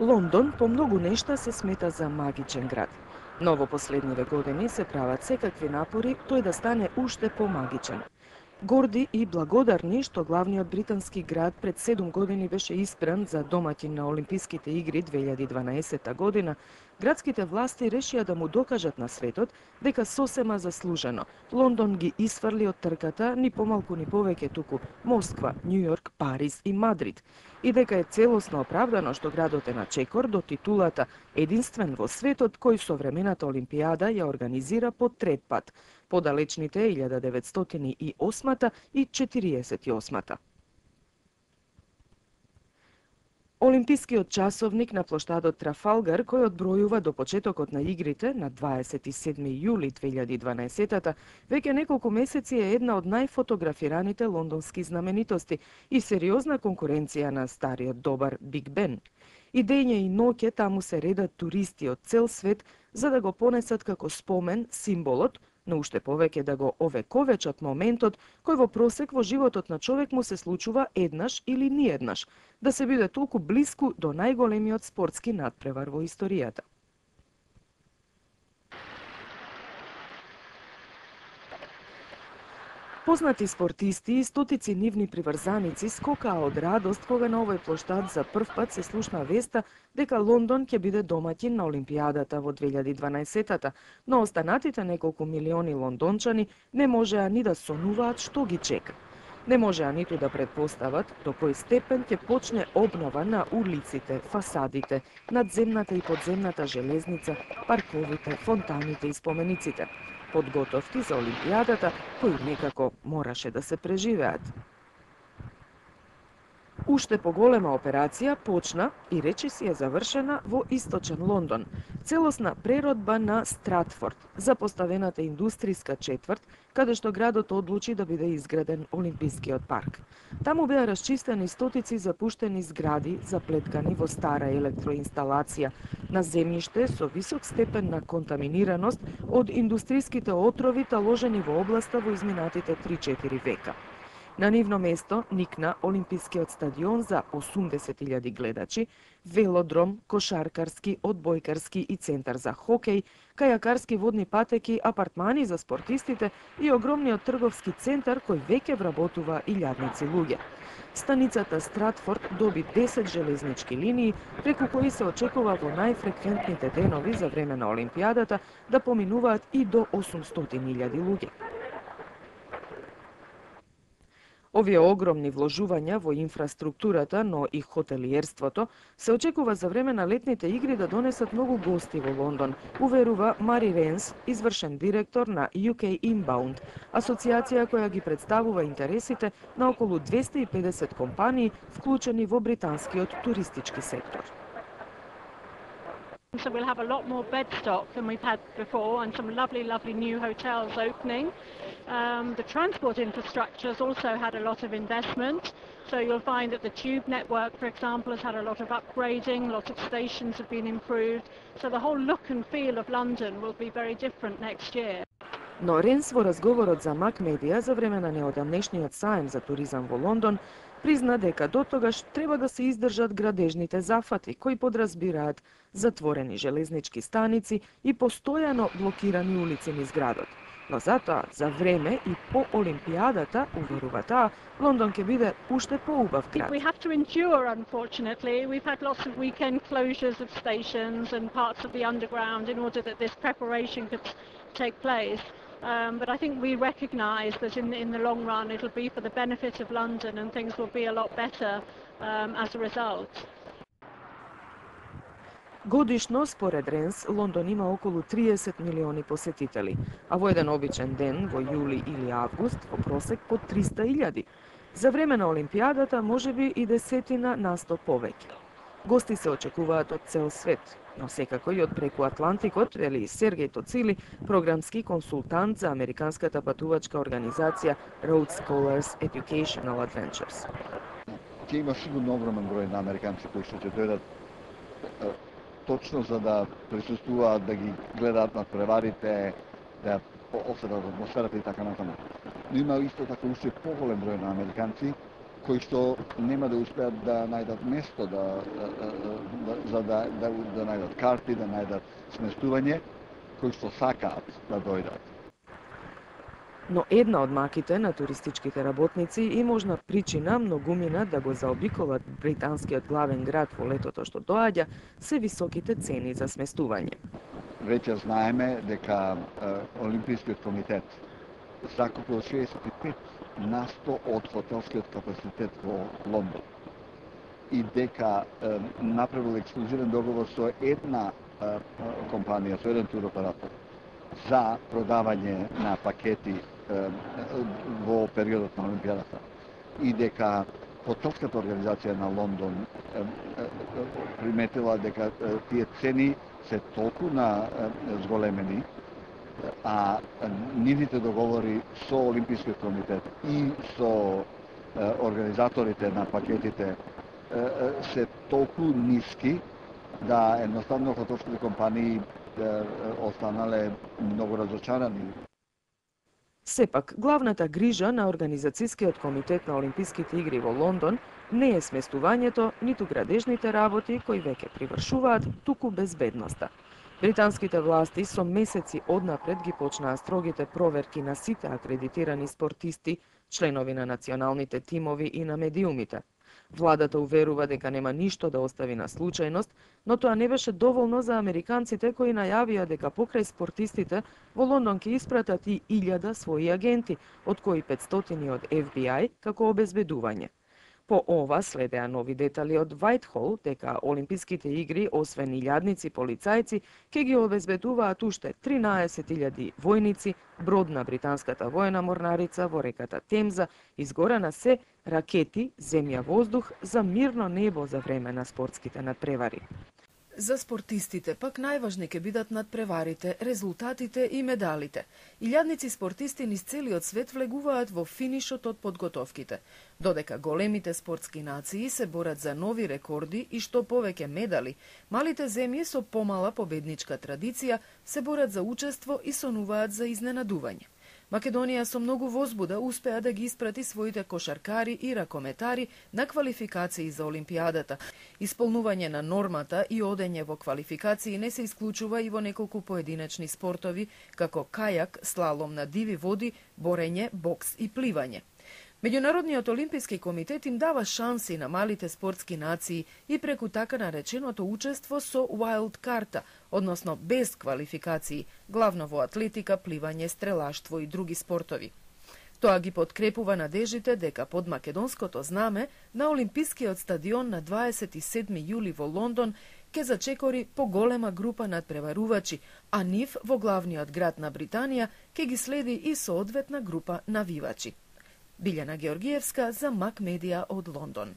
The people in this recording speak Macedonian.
Лондон по многу нешта се смета за магичен град. Но во последниве години се прават секакви напори тој да стане уште помагичен. Горди и благодарни што главниот британски град пред 7 години беше испран за домаќин на Олимписките игри 2012 година, градските власти решија да му докажат на светот дека сосема заслужено Лондон ги исфрли од трката ни помалку ни повеќе туку Москва, Њујорк, Париз и Мадрид, и дека е целосно оправдано што градот е на чекор до титулата единствен во светот кој современата Олимпијада ја организира по трет пат, подалечните 1908 и 48. Олимпискиот часовник на плоштадот Трафалгар, кој одбројува до почетокот на игрите на 27 јули 2012, веќе неколку месеци е една од најфотографираните лондонски знаменитости и сериозна конкуренција на стариот добар Биг Бен. И дење и ноќе таму се редат туристи од цел свет за да го понесат како спомен символот, но уште повеќе да го овековечат моментот кој во просек во животот на човек му се случува еднаш или ниеднаш, да се биде толку блиску до најголемиот спортски надпревар во историјата. Познати спортисти и стотици нивни приврзаници скокаа од радост кога на овој плоштад за прв пат се слушна веста дека Лондон ќе биде домаќин на Олимпијадата во 2012-та, но останатите неколку милиони лондончани не можеа ни да сонуваат што ги чека. Не можеа ниту да предпостават до кој степен ќе почне обнова на улиците, фасадите, надземната и подземната железница, парковите, фонтаните и спомениците. Подготовки за Олимпијадата, кои некако мораше да се преживеат. Уште поголема операција почна и речиси е завршена во источен Лондон. Целосна преродба на Стратфорд, за поставената индустријска четврт, каде што градот одлучи да биде изграден Олимпискиот парк. Таму беа расчистени стотици запуштени згради, заплеткани во стара електроинсталација, на земјиште со висок степен на контаминираност од индустријските отрови таложени во областа во изминатите 3-4 века. На нивно место никна Олимпискиот стадион за 80.000 гледачи, велодром, кошаркарски, одбојкарски и центар за хокеј, кајакарски водни патеки, апартмани за спортистите и огромниот трговски центар кој веќе вработува илјадници луѓе. Станицата Стратфорд доби 10 железнички линии, преку кои се очекува во најфреквентните денови за време на Олимпијадата да поминуваат и до 800.000 луѓе. Овие огромни вложувања во инфраструктурата, но и хотелиерството, се очекува за време на летните игри да донесат многу гости во Лондон, уверува Мари Ренс, извршен директор на UK Inbound, асоциација која ги представува интересите на околу 250 компании, вклучени во британскиот туристички сектор. So we'll have a lot more bed stock than we've had before and some lovely new hotels opening. The transport infrastructure has also had a lot of investment. So you'll find that the tube network, for example, has had a lot of upgrading, a lot of stations have been improved. So the whole look and feel of London will be very different next year. Но Ренс во разговорот за Мак Медија за време на неодамнешниот саем за туризам во Лондон призна дека дотогаш треба да се издржат градежните зафати кои подразбираат затворени железнички станици и постојано блокирани улици низ градот. Но затоа, за време и по Олимпијадата, уверува таа, Лондон ќе биде уште поубав град. We have to endure, unfortunately. We've had lots of weekend closures of stations and parts of the underground in order that this preparation could take place. But I think we recognise that in the long run it'll be for the benefit of London and things will be a lot better as a result. Годишно, според Ренс, Лондон има околу 30 милиони посетители, а во еден обичен ден, во јули или август, во просек по 300.000. За време на Олимпијадата можеби и десетина на 100 повеќе. Гости се очекуваат од цел свет, но секако и од преку Атлантикот, вели Сергеј Тоцили, програмски консултант за американската патувачка организација Road Scholars Educational Adventures. Ќе има сигурно огромен број на американци кои што ќе дојдат точно за да присуствуваат, да ги гледаат надпреварите, да осетат атмосферата и така натаму. Но има исто така уште поголем број на американци кои што нема да успеат да најдат место за да најдат карти, да најдат сместување, кои што сакаат да дојдат. Но една од маките на туристичките работници и можна причина многумина да го заобиколат британскиот главен град во летото што доаѓа се високите цени за сместување. Веќе знаеме дека Олимпискиот комитет закупил 65% од хотелскиот капацитет во Лондон и дека направил ексклузивен договор со една компанија, со еден туроператор за продавање на пакети во периодот на Олимпијадата и дека хотелската организација на Лондон приметила дека тие цени се толку на зголемени, а нивните договори со Олимпискиот комитет и со организаторите на пакетите се толку ниски да едноставно хотелските компании останале многу разочарани. Сепак, главната грижа на Организацијскиот комитет на Олимписките игри во Лондон не е сместувањето, ниту градежните работи кои веќе привршуваат, туку безбедноста. Британските власти со месеци однапред ги почнаа строгите проверки на сите акредитирани спортисти, членови на националните тимови и на медиумите. Владата уверува дека нема ништо да остави на случајност, но тоа не беше доволно за американците кои најавија дека покрај спортистите во Лондон ќе испратат и 1000 своји агенти, од кои 500 од FBI како обезбедување. По ова следеа нови детали од Whitehall дека Олимписките игри, освен илјадници полицајци, ќе ги обезбедуваат уште 13.000 војници, брод на британската воена морнарица во реката Темза, изгорена се ракети, земја-воздух за мирно небо за време на спортските надпревари. За спортистите пак најважни ќе бидат надпреварите, резултатите и медалите. Илјадници спортисти низ целиот свет влегуваат во финишот од подготовките, додека големите спортски нации се борат за нови рекорди и што повеќе медали, малите земји со помала победничка традиција се борат за учество и сонуваат за изненадување. Македонија со многу возбуда успеа да ги испрати своите кошаркари и ракометари на квалификации за Олимпијадата. Исполнување на нормата и одење во квалификации не се исклучува и во неколку поединечни спортови, како кајак, слалом на диви води, борење, бокс и пливање. Меѓународниот олимписки комитет им дава шанси на малите спортски нации и преку така нареченото учество со wild карта, односно без квалификации, главно во атлетика, пливање, стрелаштво и други спортови. Тоа ги подкрепува надежите дека под македонското знаме на Олимпискиот стадион на 27 јули во Лондон ќе зачекори поголема група надпреварувачи, а нив во главниот град на Британија ќе ги следи и соодветна група навивачи. Билјана Георгиевска за Мак Медија од Лондон.